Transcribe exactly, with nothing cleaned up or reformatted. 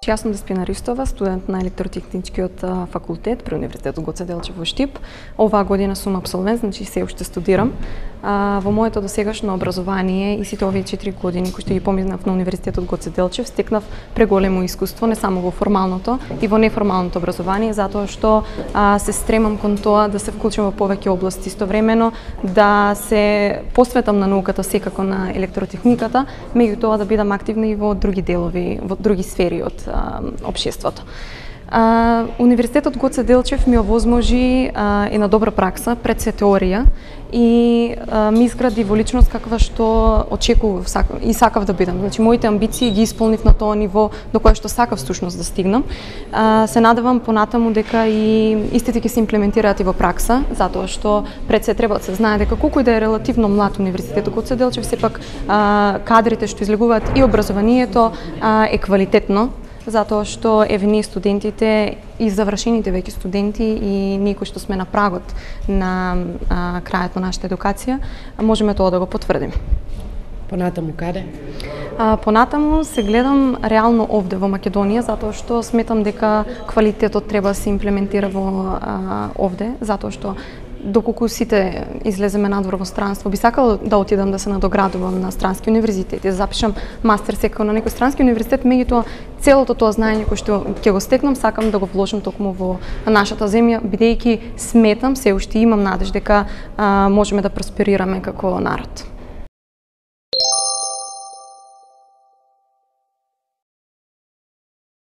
Јас сум Деспина Ристова, студент на електротехничкиот факултет при Универзитетот Гоце Делчев во Штип. Оваа година сум апсолвент, значи се уште студирам. Во моето досегашно образование и сите овие четири години кои што ги поминав на Универзитетот Гоце Делчев, стекнав преголемо искуство не само во формалното и во неформалното образование, затоа што а, се стремам кон тоа да се вклучам во повеќе области, истовремено да се посветам на науката, секако на електротехниката, меѓутоа да бидам активна и во други делови, во други сфери од а, општеството. А, Универзитетот Гоце Делчев ми овозможи а, една добра пракса пред се теорија и а, ми изгради во личност каква што очекував и сакав да бидам. Значи моите амбиции ги исполнив на тоа ниво до кое што сакав всушност да стигнам. А, се надевам понатаму дека и истите ќе се имплементираат и во пракса, затоа што пред се треба да се знае дека колку и да е релативно млад Универзитетот Гоце Делчев, сепак а, кадрите што излегуваат и образованието а, е квалитетно, затоа што еве ние студентите и завршените веќе студенти и ние кои што сме на прагот на а, крајот на нашата едукација, можеме тоа да го потврдиме. Понатаму каде? А, понатаму се гледам реално овде во Македонија, затоа што сметам дека квалитетот треба да се имплементира во а, овде, затоа што доколку сите излеземе надвор во странство, би сакала да отидам да се надоградувам на странски универзитети, да запишам мастер секако на некој странски универзитет, меѓутоа целото тоа знаење кое што ќе го стекнам, сакам да го вложам токму во нашата земја, бидејќи сметам, се уште имам надеж дека а, можеме да просперираме како народ.